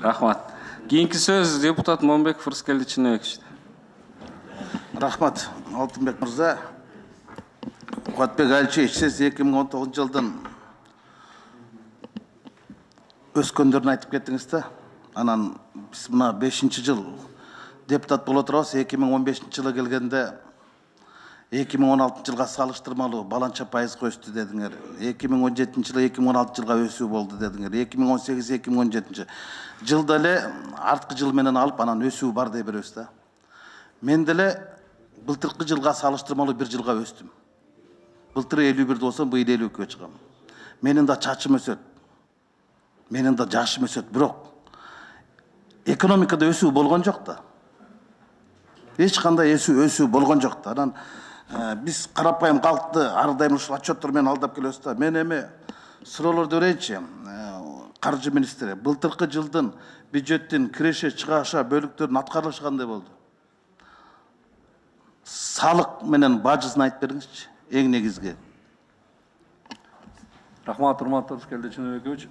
Рахмат. Кийинки сөз депутат Момбеков Рыскелди Чыныбекович. Рахмат, Алтынбек мырза. Кубатбек Алчевич, сиз 2019 жылдын өскөндөрүн айтып кеттиңиз да. Анан биз мына 5-жыл депутат боло турабыз. 2015-жылы келгенде 2016 жылга салыштырмалуу баланча пайызга өстү дедиңер. 2017-жылы 2016 жылга өсүү болду дедиңер. 2018-2017 жылда эле арткы жыл менен алып анан өсүү бар деп беребиз да. Мен деле былтыркы жылга салыштырмалуу бир жылга өстүм. Былтыр 51 болсом, быйыл 52-кө чыгам. Менин да чачым өсөт. Менин да жашым өсөт, бирок экономикада өсүү болгон жок да. Эч кандай өсүү болгон жок да. Анан биз карапайым калкты ар дайым ушул отчеттор менен алдап келебиз да. Мен эми суроолорду берейинчи. Каржы министри, былтыркы жылдын бюджеттин киреше чыгаша бөлүктөрүнүн аткарылышы кандай болду? Салык менен бажысын айтып бериңизчи, эң негизги. Рахмат, урматтуу Рыскелди Чыныбекович.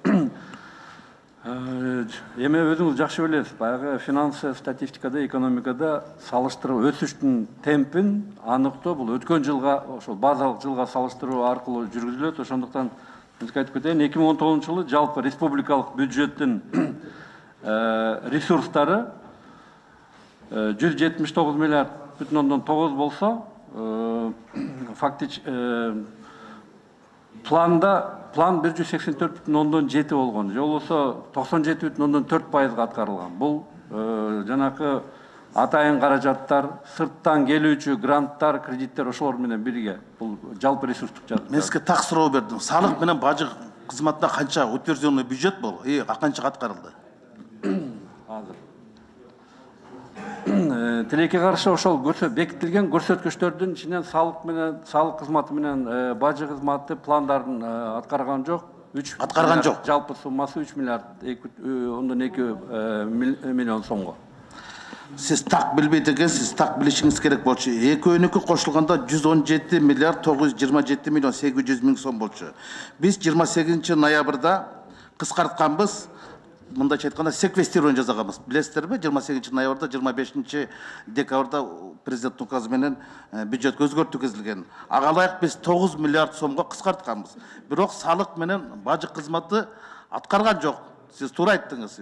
Эми өзүңүз жакшы билесиз, баягы финансы статистикада, экономикада салыштыруу өсүштүн темпин аныктоо бул өткөн жылга, ошол базалык жылга салыштыруу аркылуу жүргүзүлөт. Ошондуктан айтып кетейин, 2019 жылы жалпы республикалык бюджеттин ресурстары 179 миллиард бүтүн ондон 9 болсо, план 184,7 болгон. Же болбосо 97,4% аткарылган. Бул жанакы атайын каражаттар, сырттан келүүчү гранттар, кредиттер ошолор менен бирге. Бул жалпы ресурстук жагат. Мен сизге так суроо бердим. Салык менен бажы кызматына канча утвержденный бюджет болду? Канча аткарылды? Азыр. Тилекке каршы ошол бекитилген көрсөткүчтөрдүн ичинен салык кызматы менен бажы кызматы пландарын аткарган жок. Аткарган жок. Жалпы суммасы 3 миллиард 2 миллион сомго. Сиз так билбейт экенсиз, так билишиңиз керек болчу. Экөөнүкү кошулганда 117 миллиард 927 миллион 800 миң сом болчу. Биз 28 ноябрда кыскартканбыз. Мындайча айтканда секвестирование жасаганбыз. Билесиздерби? 28 ноябрда, 25 декабрда президент указы менен бюджетке өзгөртүү киргизилген. Ага ылайык биз 9 миллиард сомго кыскартканбыз. Бирок салык менен бажы кызматы аткарган жок. Сиз туура айттыңыз.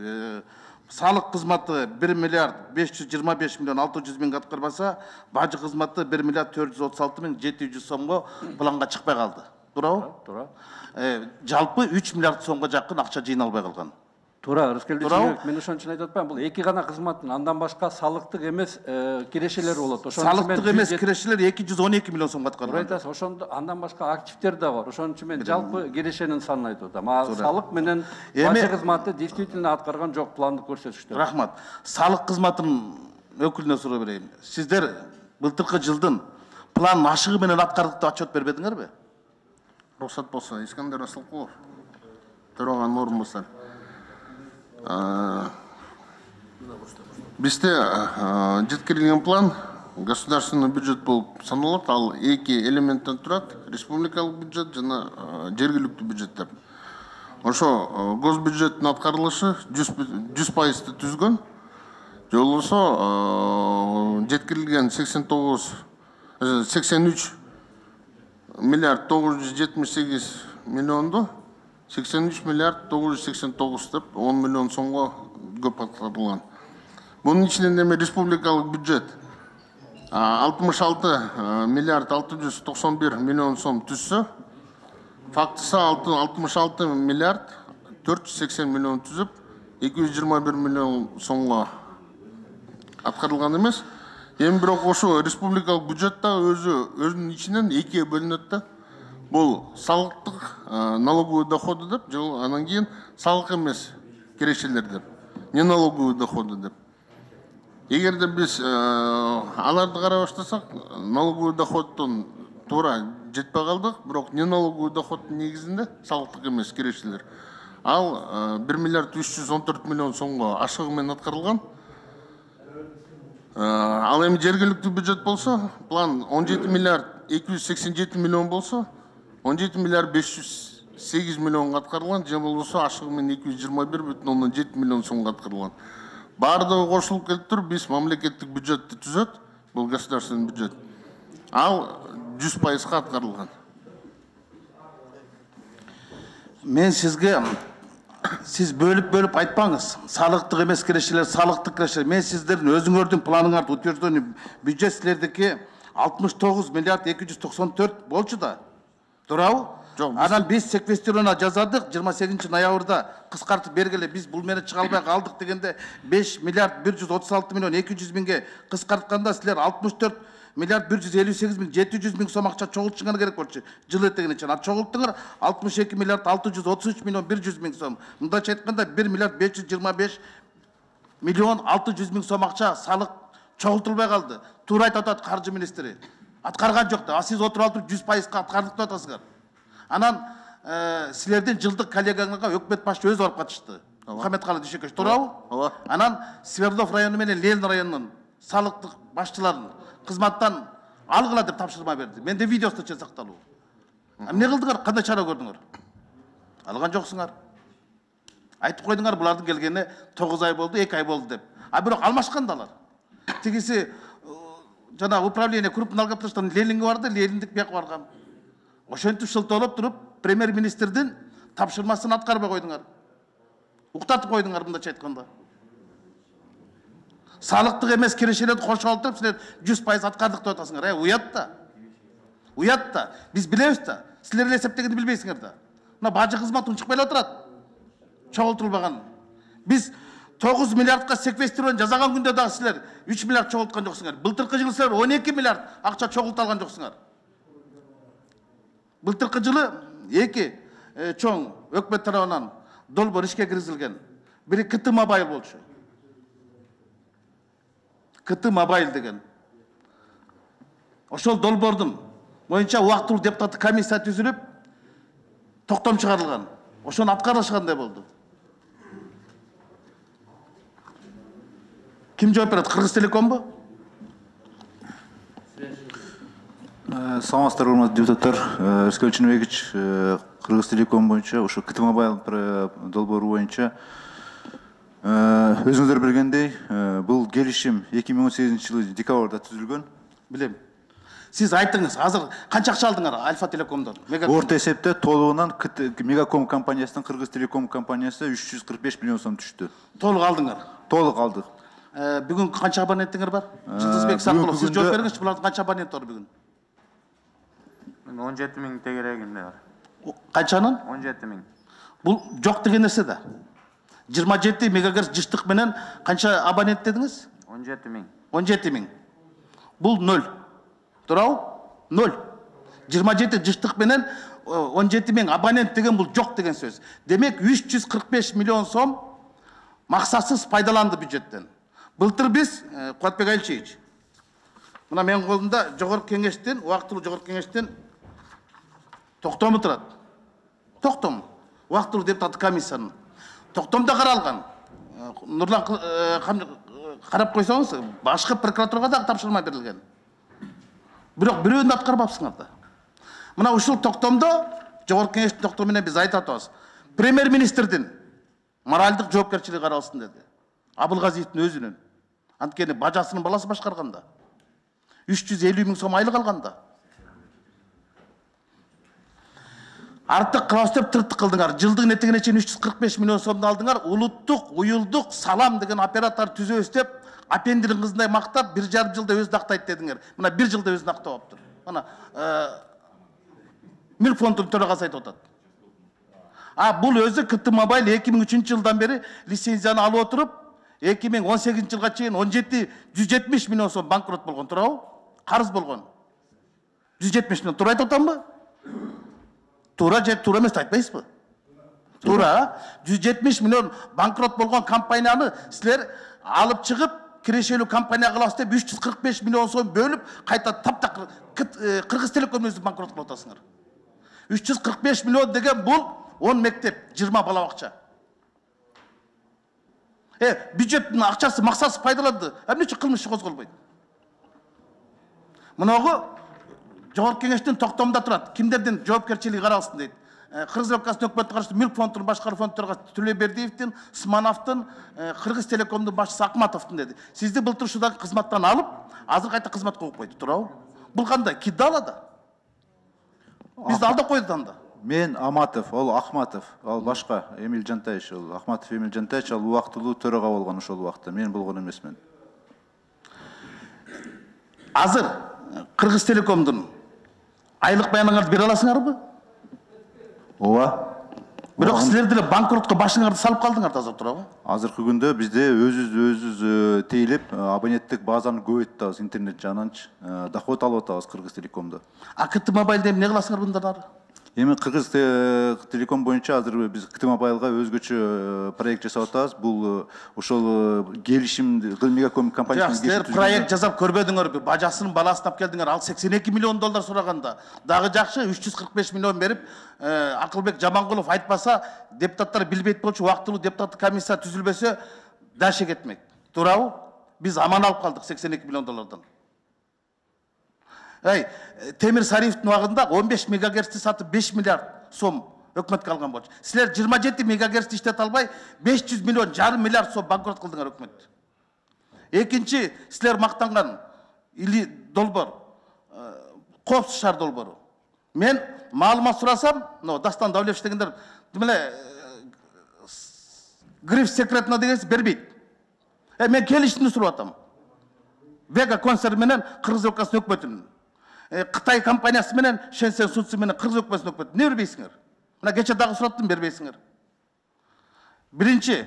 Салык кызматы 1 миллиард 525 миллион 600 миң аткарбаса, бажы кызматы 1 миллиард 436 миң 700 сомго планга чыкпай калды. Туурабы? Туура. Жалпы 3 миллиард сомго жакын акча жыйналбай калган. Туура, Рыскелди Чыныбекович, мен ошон үчүн айтып атпайм, бул эки гана кызматтын андан башка салыктык эмес кирешелер болот. Салыктык эмес кирешелер 212 миллион сомго аткарылган. Туура айтасыз, ошондо андан башка активдер да бар. Ошон үчүн мен жалпы кирешенин санын айтып атам. Салык менен бажы кызматы действительно аткарган жок пландык көрсөтүштөр. Рахмат. Салык кызматынын өкүлүнө суроо берейин. Сиздер былтыркы жылдын план ашыгы менен аткардык деп отчет бербедиңерби? Рухсат болсо, Искандер Асылкулов, төраганын орун басары. Бизде жеткирилген план государственный бюджет болуп саналат. Ал эки элементтен турат: республикалык бюджет жана жергиликтүү бюджеттер. Ошо госбюджеттин аткарылышы 100% түзгөн. Же болбосо жеткирилген 83 миллиард 978 миллионду 83 миллиард 989 деп 10 миллион сомго көп аткарылган. Бунун ичинен эми республикалык бюджет 66 миллиард 691 миллион сом түзсө, фактысы 66 миллиард 480 миллион түзүп, 221 миллион сомго аткарылган эмес. Эми бирок ошо республикалык бюджет да өзүнүн ичинен экиге бөлүнөт да. Бул салыктык налоговый доходу деп, анан кийин салык эмес кирешелер деп, не налоговый доходу деп. Эгерде биз аларды карай баштасак, налоговый доходдон туура жетпей калдык, бирок не налоговый доходдун негизинде салыктык эмес кирешелер. Ал 1 миллиард 314 миллион сомго ашыгы менен аткарылган. Ал эми жергиликтүү бюджет болсо, план 17 миллиард 287 миллион болсо, 17 миллиард 500 8 миллионга аткарылган, же болбосо ашыгы менен 221,7 миллион сомго аткарылган. Бардыгы кошулуп келип туруп биз мамлекеттик бюджетти түзөт, бул государственный бюджет. Ал 100% аткарылган. Мен сизге сиз бөлүп айтпаңыз. Салыктык эмес кирешелер, салыктык кирешелер. Мен сиздердин өзүңөрдүн планыңарды утвержденный бюджет силердики 69 миллиард 294 болчу да. Туурабы? Анан биз секвестирование жазадык 28 ноябрда кыскартып бергеле биз бул менен чыга албай калдык дегенде 5 миллиард 136 миллион 200 миңге кыскартканда силер 64 миллиард 158 миң 700 миң сом акча чогултушуңар керек болчу. Жыл этегине чейин. Чогулттуңар 62 миллиард 633 миллион 100 миң сом. Мындайча айтканда 1 миллиард 525 миллион 600 миң сом акча салык чогултулбай калды. Туура айтып атат каржы министри. Аткарган жок да. Сиз отуруп алып 100% аткардык деп атасыздар. Анан силердин жылдык коллегаңарга өкмөт башчы өзү барып катышты. Мухаммедкалы Дүйшөкөч, туурабы? Ооба. Анан Свердлов району менен Ленин районунун салыктык башчыларын кызматтан алгыла деп тапшырма берди. Менде видеосу чен сакталуу. Эмне кылдыңар? Кандай чара көрдүңөр? Алган жоксуңар. Айтып койдуңар, булардын келгенине 9 ай болду, 2 ай болду деп. Бирок алмашкан да алар. Тигиси жана управление крупный налогоплательщиктин Ленинге барды, Лениндик бияка барган. Ошентип шылтоолоп туруп, премьер-министрдин тапшырмасын аткарбай койдуңар. Уктатып койдуңар мындайча айтканда. Салыктык эмес кирешелерди кошуп алып силер 100% аткардык деп атасыңар. Уят да. Уят да. Биз билебиз да. Силер эле эсептегенди билбейсиңер да. Мына бажы кызмат унчукпай эле отурат. Чогултулбаган. Биз 9 миллиардка секвестирование жасаган күндө дагы силер 3 миллиард чогулткан жоксуңар. Былтыркы жылы силер 12 миллиард акча чогулталган жоксуңар. Былтыркы жылы 2 чоң өкмөт тарабынан долбоор ишке киргизилген. Бири КТ Мобайл болчу. КТ Мобайл деген. Ошол долбоордун боюнча убактылуу депутаттык комиссия түзүлүп, токтом чыгарылган. Ошону аткарышкандай болду. Ким жооп берет? Кыргызтелекомбу? Саламатсыздар, урматтуу депутаттар. Рыскелдин Чыныбекович, Кыргызтелеком боюнча, ошо КТ Мобайл долбоору боюнча өзүңүздөр билгендей, бул келишим 2018 жылы декабрда түзүлгөн. Билем. Сиз айтыңыз, азыр канча акча алдыңар Альфа Телекомдон? Орто эсепте толугунан Мегаком компаниясынын Кыргызтелеком компаниясы 345 миллион сом түштү. Толук алдыңар? Толук алдык. Бүгүн канча абоненттиңер бар? Жылдызбек Сакулов, сиз жооп бериңизчи, булардын канча абоненти бар бүгүн? 17 миң тегерегинде бар. Канчанын? 17 миң. Бул жок деген нерсе да. 27 мегагерц жыштык менен канча абонент дедиңиз? 17 миң. 17 миң. Бул 0. Туурабы? 0. 27 жыштык менен 17 миң абонент деген бул жок деген сөз. Демек 345 миллион сом максатсыз пайдаланды бюджеттен. Былтыр биз Куатбек Айлчевич, мына менин колумда жогорку кеңештин, убактылуу жогорку кеңештин токтому турат. Токтом. Убактылуу депутаттык комиссиянын токтомдо каралган. Нурлан карап койсоңуз, башкы прокуратурага да тапшырма берилген. Бирок бирөөнү аткарбапсыңар да. Мына ушул токтомдо жогорку кеңештин токтому менен биз айтып атабыз. Премьер-министрдин моралдык жоопкерчилиги каралсын деди. Абылгазиевдин өзүнүн. Анткени бажасынын баласы башкарганда. 350 миң сом айлык алганда. Артык кылабыз деп тыртык кылдыңар. Жылдын этегине чейин 345 миллион сомду алдыңар. Улуттук уюлдук салам деген оператор түзөбүз деп апендирин кызындай мактап 1,5 жылда өзү актайт дедиңер. Мына 1 жылда өзүн актап аптыр. Мына Мүлк фондунун төрагасы айтып атат. Бул өзү КТ Мобайл 2003 жылдан бери лицензияны алып отуруп, 2018 жылга чейин 170 миллион сом банкрот болгон, туурабы? Карыз болгон. 170 миллион. Туура айтып атамбы? Туура же туура эмес айтпайсызбы? Туура. 170 миллион банкрот болгон компанияны силер алып чыгып, кирешелүү компания кылабыз деп 345 миллион сом бөлүп, кайта таптак Кыргызтелеком өзү банкрот кылып атасыңар. 345 миллион деген бул 10 мектеп, 20 бала бакча. Бюджеттин акчасы максатсыз пайдаланды. Эмне үчүн кылмыш козголбойт? Мынагы жогорку кеңештин токтомунда турат. Кимдердин жоопкерчилиги каралсын дейт. Кыргыз Республикасынын өкмөтүнө каршы мүлк фондун башкаруу фондторго Төлөбердиевдин, Смановдун, Кыргыз Телекомдун башчысы Акматовдун деди. Сизди былтыр ушудан кызматтан алып, азыр кайта кызматка коюп койду, туурабы? Бул кандай? Кидала да. Бизди алдап койду анда. Мен Аматов, ол Ахматов, ал башка Эмиль Жантаевич, ол Ахматов Эмиль Жантаевич, ал убактылуу төрага болгон ошол убакта. Мен болгон эмесмин. Азыр Кыргыз Телекомдун айлык баяныңарды бере аласыңарбы? Ооба. Бирок силер деле банкротко башыңарды салып калдыңар азыр, туурабы? Азыркы күндө бизде өзүбүз тейлеп абоненттик базаны көбөйттүбүз, интернет жагынан доход алып атабыз Кыргыз Телекомдо. КТ Мобайлда эмне кыласыңар мындан ары? Эми Кыргыз Телеком боюнча азыр биз КТ Мобайлга өзгөчө проект жасап атабыз. Бул ошол келишим Мегаком компаниясынын силер проект жасап көрбөдүңөрбү? Бажасын баласын алып келдиңер, ал $82 миллион сураганда. Дагы жакшы 345 миллион берип, Акылбек Жамангулов айтпаса, депутаттар билбейт болчу, убактылуу депутаттык комиссия түзүлбөсө, даше кетмек. Туурабы? Биз аман алып калдык $82 миллион. Темир Сариевдин убагында 15 мегагерцти сатып 5 миллиард сом өкмөткө алган болчу. Силер 27 мегагерцти иштете албай 500 миллион, жарым миллиард сом банкрот кылдыңар өкмөттү. Экинчи, силер мактанган или долбор, Коопсуз шаар долбору. Мен маалымат сурасам, Дастан Давлетович дегендер, демеле гриф секретно дегенси бербейт. Мен келишимди сурап атам. Вега концерн менен Кыргыз Республикасынын өкмөтүнүн, Кытай компаниясы менен Шенсен Судсу менен Кыргыз Республикасынын өкмөтүнүн не бербейсиңер? Мына кече дагы сураттым, бербейсиңер. Биринчи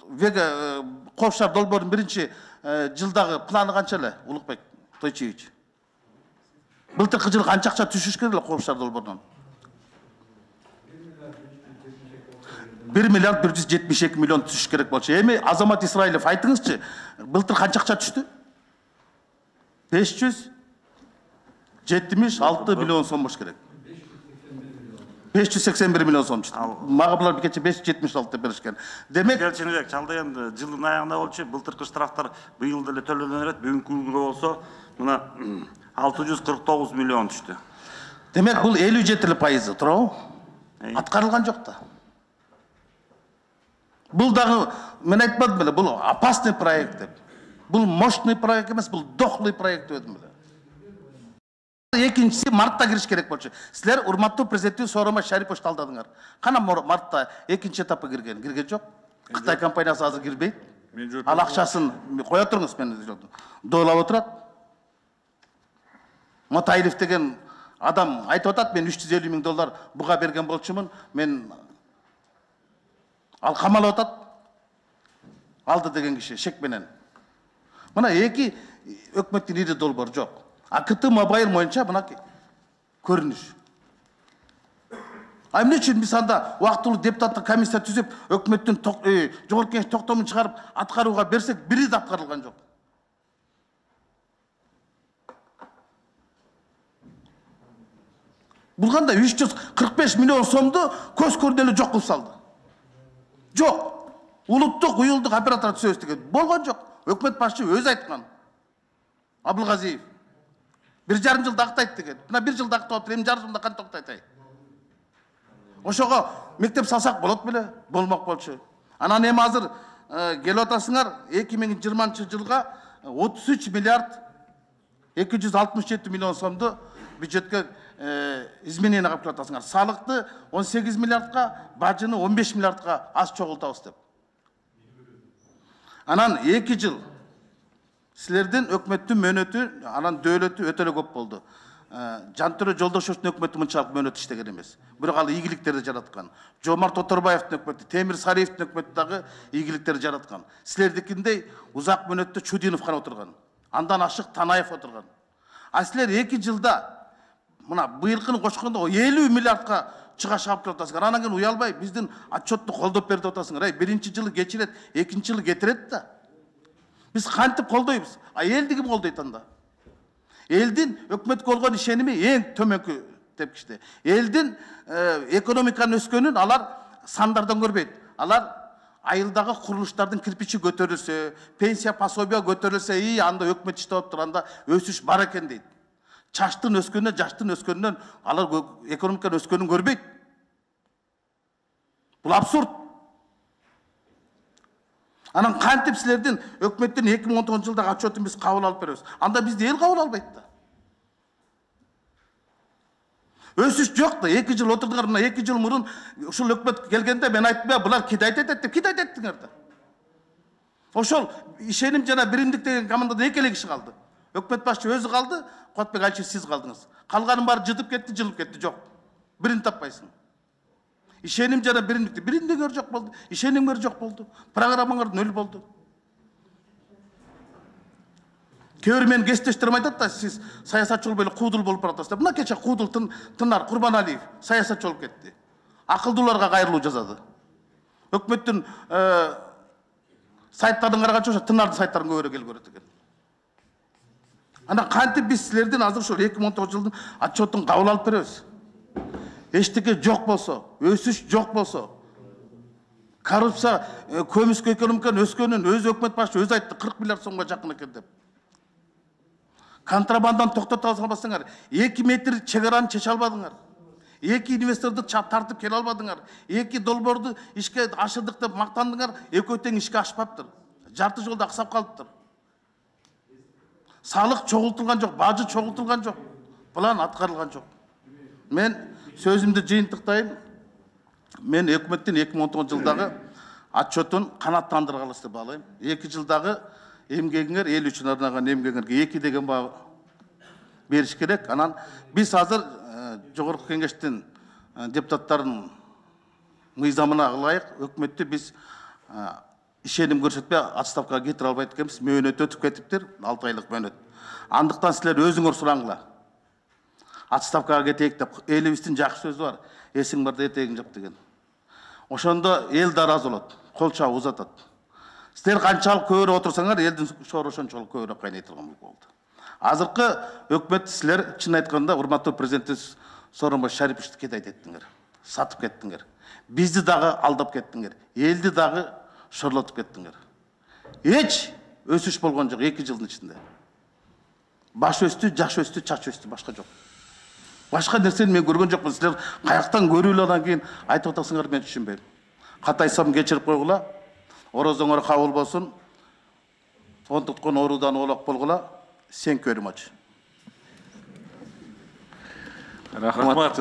Вега Коопсуз шаар долбоордун биринчи жылдагы планы канча эле, Улукбек Тойчиевич? Былтыркы жылы канча акча түшүш керек эле Коопсуз шаар долбоорунан? 1 миллиард 172 миллион түшүш керек болчу. Эми Азамат Исраилов айтыңызчы, былтыр канча акча түштү? 576 миллион сом болуш керек. 581 миллион сом түштү. Мага булар бекече 576 деп беришкен. Демек, Келчинбек, чалда енді жылдын аягында болчу, былтыркы штрафтар быйыл деле төлөнө берет, бүгүнкү күнгө болсо мына 649 миллион түштү. Демек бул 57%, туурабы? Аткарылган жок да. Бул дагы мен айтпадым беле, бул опасный проект деп. Бул мощный проект эмес, бул дохлый проект дедим беле. Экинчиси мартта кириш керек болчу. Силер урматтуу президенттин Сооронбай Шариповичти алдадыңар. Кана мартта экинчи этапка кирген? Кирген жок. Кытай компаниясы азыр кирбейт. Ал акчасын кое туруңуз, мен дойлап отурат. Мотаилов деген адам айтып атат, мен $350 миң буга берген болчумун. Мен ал камалып атат. Алды деген киши шек менен. Мына эки өкмөттүн ири долбоор жок. КТ Мобайл боюнча мына көрүнүш. Эмне үчүн биз анда убактылуу депутаттык комиссия түзүп, өкмөттүн жогорку кеңеш токтомун чыгарып аткарууга берсек, бири да аткарылган жок. Бул кандай 345 миллион сомду көз көрдөлү жок кылып салды. Жок. Улуттук уюлдук оператор түзөбүз деген болгон жок. Өкмөт башчы өзү айткан. Абылгазиев 1,5 жыл тактайт деген. Мына 1 жыл тактап отур, эми жарым жылда кантип тактайт? Ошого мектеп салсак болот беле? Болмок болчу. Анан эми азыр келип атасыңар 2020 жылга 33 миллиард 267 миллион сомду бюджетке изменение кылып атасыңар. Салыкты 18 миллиардка, бажыны 15 миллиардка аз чогултабыз деп. Анан 2 жыл силердин өкмөттүн мөөнөтү, анан дөөлөтү өтө эле көп болду. Жантөрө Жолдошовдун өкмөтү мынчалык мөөнөт иштеген эмес. Бирок ал ийгиликтерди жараткан. Жомарт Оторбаевдин өкмөтү, Темир Сариевдин өкмөтү дагы ийгиликтерди жараткан. Силердикиндей узак мөөнөттө Чудинов гана отурган. Андан ашык Танаев отурган. А силер 2 жылда мына быйылкыны кошкондо 50 миллиардка чыга шаап келип атасыңар. Анан кийин уялбай биздин отчетту колдоп берди деп атасыңар. Биринчи жылы кечирет, экинчи жылы кетирет да. Биз кантип колдойбуз? Элди ким колдойт анда? Элдин өкмөткө болгон ишеними эң төмөнкү тепкичте. Элдин экономиканын өскөнүн алар сандардан көрбөйт. Алар айылдагы курулуштардын кирпичи көтөрүлсө, пенсия пособия көтөрүлсө, анда өкмөт иштеп атып анда өсүш бар экен дейт. Чачтын өскөнүнөн, жаштын өскөнүнөн алар экономиканын өскөнүн көрбөйт. Бул абсурд. Анан кантип силердин өкмөттүн 2019 жылдагы отчетун биз кабыл алып беребиз? Анда бизди эл кабыл албайт да. Өсүш жок да. 2 жыл отурдуңар, мына 2 жыл мурун ушул өкмөт келгенде мен айттым, булар кидайт этет деп, кидайт еттиңер да. Ошол ишеним жана биримдик деген командадан 2 киши калды. Өкмөт башчы өзү калды, Куатбек Алчиев сиз калдыңыз. Калганын баары жытып кетти, жылып кетти, жок. Бирин таппайсың. Ишеним жана биримдиктер жок болду. Ишенимдер жок болду. Программаңар нөл болду. Кээ мен кесиптештерим айтат да, сиз саясатчы болуп эле куудул болуп баратасыз деп. Мына кече куудул Тынар Курбаналиев саясатчы болуп кетти. Акылдууларга кайрылуу жазады. Өкмөттүн сайттарын караганча ошо Тынардын сайттарын көбүрөөк эл көрөт экен. Ана кантип биз силердин азыр ушул 2019 жылдын отчетун кабыл алып беребиз? Эчтеке жок болсо, өсүш жок болсо, коррупция, көмүскө экономиканын өскөнүн өзү өкмөт башчы өзү айтты, 40 миллиард сомго жакын экен деп. Контрабанданы токтото албасаңар, 2 метр чегараны чече албадыңар. 2 инвесторду тартып келе албадыңар. 2 долбоорду ишке ашырдык деп мактандыңар, экөө тең ишке ашпаптыр. Жарты жолдо аксап калыптыр. Салык чогултулган жок, бажы чогултулган жок. План аткарылган жок. Мен сөзүмдү жыйынтыктайын. Мен өкмөттүн 2019 жылдагы отчетун канааттандыргалысы деп баалайм. 2 жылдагы эмгегиңер, эл үчүн арнаган эмгегиңерге 2 деген баа бериш керек. Анан биз азыр жогорку кеңештин депутаттарынын мыйзамына ылайык өкмөттү биз ишеним көрсөтпөй отставкага кетире албайт экенбиз. Мөөнөт өтүп кетиптир, 6 айлык мөөнөт. Андыктан силер өзүңөр сураңла. Отставкага кетейик деп, элибиздин жакшы сөзү бар. Эсиң барда этегиң жап деген. Ошондо эл да ыраазы болот, кол чабып узатат. Силер канчалык көбүрөөк отурсаңар, элдин шоору ошончолук көбүрөөк кайнайтылган болду. Азыркы өкмөт силер чын айтканда урматтуу президентибиз Сооронбай Шариповичти кедайт еттиңер, сатып кеттиңер. Бизди дагы алдап кеттиңер, элди дагы шорлотуп кеттиңер. Эч өсүш болгон жок 2 жылдын ичинде. Баш өстү, жаш өстү, чач өстү, башка жок. Башка нерсени мен көргөн жокмун. Силер каяктан көрүүлөр анан кийин айтып атасыңар, мен түшүнбөйм. Катайсам кечирип койгула. Орозоңор кабыл болсун. Онтуткон оруудан оолак болгула. Thank you very much. Рахмат.